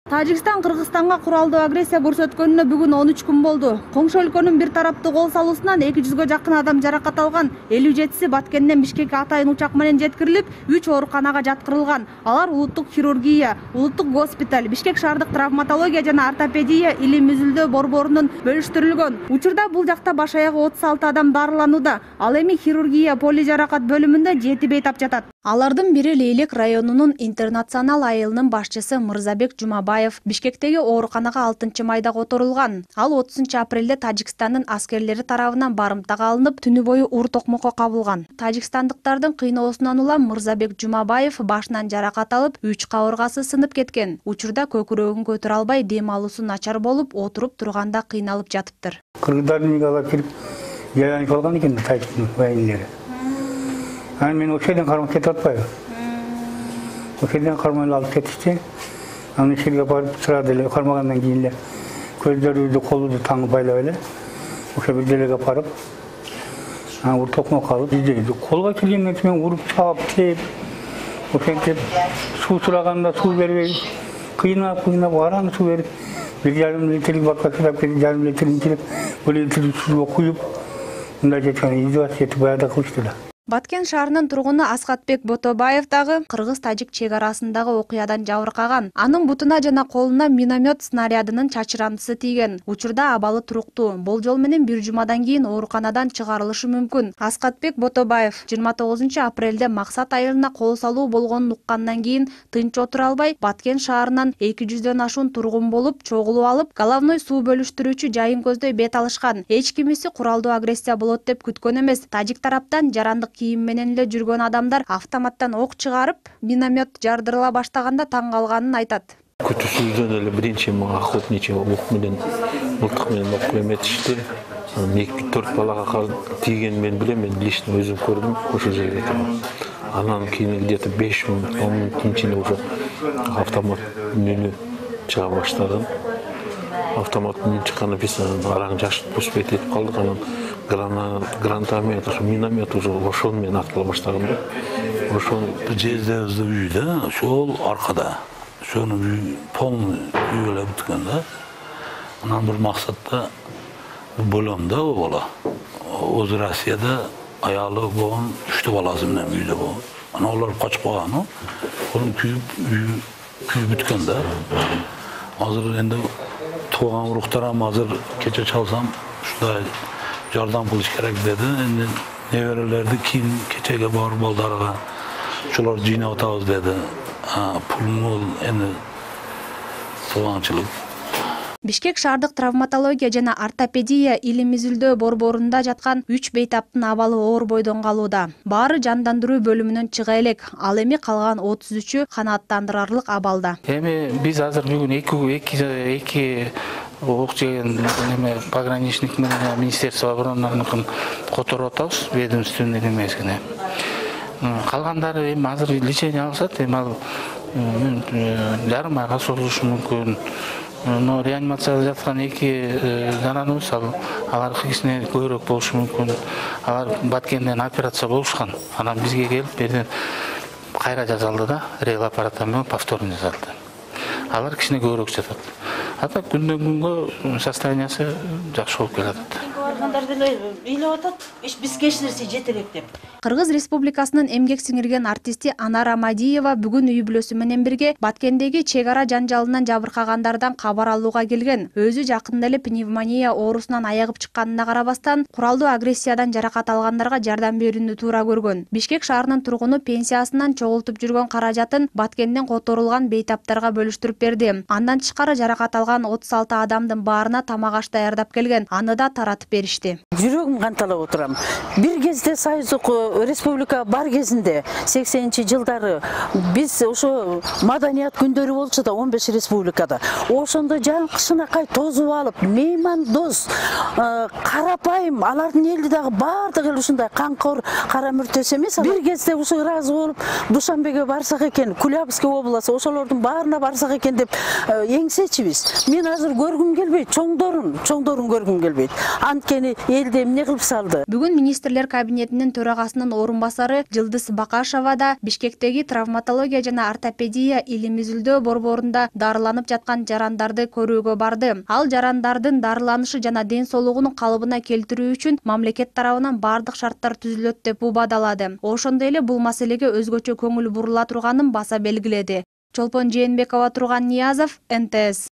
Тажикстан Кыргызстанга куралдуу агрессия көрсөткөнүнө бүгүн 13 күн болду. Коңшу өлкөнүн бир тараптуу кол салуусунан 200 жакын адам жаракат алган. 57-си Баткенден Бишкекке атайын учак менен жеткирилип, 3 ооруканага жаткырылган. Алар улуттук хирургия, улуттук госпиталь, Бишкек шаардык травматология жана ортопедия илим үзүлдөө борборунун бөлүштүрүлгөн. Учурда бул жакта баш аягы 36 адам дарыланууда. Ал эми хирургия поли жаракат бөлүмүндө 7 бейтап жатат. Алардын бири Лейлек районунун интернационал айылынын башчысы Мырзабек Жумабаев Бишкектеги ооруканага 6-майда которулган. Ал 30-апрелде Тажикстандын аскерлери тарабынан барымтага алынып, түнү бою уур токмокко кабылган. Тажикстандыктардын кыйноосунан улам Мырзабек Жумабаев башынан жаракат алып, 3 кабыргасы сынып кеткен. Учурда көкүрөгүн көтөрө албай, дем алуусу начар болуп, отуруп турганда кыйналып жатыптыр. Кыргыздардын үйгө алып кирип, жаранып алган экен Тажиктин вайнилери. Мен ошол жерден кармап кетип атпайбы? Ошол жерден кармай алып кетишти. Аны ишерге барып турады эле, кармагандан кийин эле көздөрүбүздү, колубузду таңып байлап эле ошо бир жерге алып барып, уур токмок алып издейди. Колго келгенден кийин мен уруп чаап, тээп, ошентип суу сураганда суу бербей, кыйнап, араны суу берип, 1,5 литрдик бакка сырап кетип, 1,5 литрин içilip, 1 литрдик сууга куюп, мындай жеткен издевательство этип баягыда кылышты да. Баткен шаарынын тургуну Аскатбек Ботобаев дагы кыргыз-тажик чек арасындагы окуядан жабыркаган. Анын бутуна жана колуна миномет снарядынын чачырандысы тийген. Учурда абалы туруктуу. Болжол менен бир жумадан кийин ооруканадан чыгарылышы мүмкүн. Аскатбек Ботобаев 29-апрелде Максат айылына кол салуу болгонун уккандан кийин тынч отура албай, Баткен шаарынан 200дөн ашуун тургун болуп, чогулуп алып, головной суу бөлүштүрүүчү жайын көздөй бет алышкан. Эч кимиси куралдуу агрессия болот деп күткөн эмес. Тажик тараптан жарандык кийим менен эле жүргөн адамдар автоматтан ок чыгарып, миномет жардырыла баштаганда таң калганын айтат. Күтүүсүздөн эле биринчи охотничий оқ менен, мылтык менен ок эметишти. 2-4 балага тийген мен билем, мен лично өзүм көрдүм ошол жерде. Анан кийин где-то 5 мүнөт, 10 мүнөттүн ичинде уже автомат үнү чыга баштаган. Автомат үнү чыккандан кийин араң жашып пуспейт этип калдык. Анан гранатомет, миномет уже ошол менен атыла баштаган да. Ошол жездебизде үй да, ошол аркада. Ошонун үй полный үй эле бүткөн да. Анан бир максатта болом да бала. Өзү Россияда аялы болгон 3 баласы менен үйдө болгон. Анан алар качып калган, ошонун күйүп бүткөн да. Азыр энди тууган уруктарым азыр кече чалсам ушундай жардам кылыш керек деди. Энди неберелерди кийин кечеге барып балдарга ушуларды жыйнап атабыз деди. Пул энди согаңчылык. Бишкек шаардык травматология жана ортопедия илим изилдөө борборунда жаткан 3 бейтаптын абалы оор бойдон калууда. Баары жандандыруу бөлүмүнөн чыга элек, ал эми калган 33-ү канааттандырарлык абалда. Эми биз азыр бүгүн 2 ок жеген пограничник менен министерство оборонаныкын которуп атабыз, ведомственный эмесине. Калгандары эми азыр лечение алышат, эми ал жарым айга созулушу мүмкүн. Но реанимацияда жаткан 2 жараныбыз алар кичине көбүрөөк болушу мүмкүн. Алар Баткенден операция болушкан. Анан бизге келип берден кайра жазалды да, реал аппараттан менен повторно жазалды. Алар кичине көбүрөөк жатат. Ата күндөн күнгө состояниясы жакшы болуп келатат. Баргандар деле ыйлап атат, биз кечирсе жетелек деп. Кыргыз Республикасынын эмгек сиңирген артисти Анар Амадиева бүгүн үй бүлөсү менен бирге Баткендеги чек ара жанжалынан жабыркагандардан кабар алууга келген. Өзү жакында эле пневмония оорусунан аягып чыкканына карабастан, куралдуу агрессиядан жаракат алгандарга жардам берүүнү туура көргөн. Бишкек шаарынын тургуну пенсиясынан чогултуп жүргөн каражатын Баткенден которулган бейтаптарга бөлүштүрүп берди. Андан тышкары жаракат алган 36 адамдын баарына тамак аш даярдап келген. Аны да таратып беришти. Жүрөгүм канталап отурам. Бир кезде Союздук республика бар кезинде 80-жылдары биз ошо маданият күндөрү болчу да 15 республикада. Ошондо жаңкышынакай тозуп алып, меймандос, карапайым, алардын эли дагы бардыгы эле ушундай канкор, кара мүртөс эмес. Бир кезде ушул ыраазы болуп, Душанбеге барсак экен, Кулябский областы, ошолордун баарына барсак экен деп эңсечибиз. Мен азыр көргүм келбейт, чоңдорун көргүм келбейт. Анткени элди эмне кылып салды. Бүгүн министрлер кабинетинин төрагасынын башчысынын орун басары Жылдыз Бакашева да Бишкектеги травматология жана ортопедия илим изилдөө борборунда дарыланып жаткан жарандарды көрүүгө барды. Ал жарандардын дарыланышы жана ден соолугун калыбына келтирүү үчүн мамлекет тарабынан бардык шарттар түзүлөт деп убадалады. Ошондой эле бул маселеге өзгөчө көңүл бурула турганын баса белгиледи. Чолпон Жээнбекова, Турган Ниязов, НТС.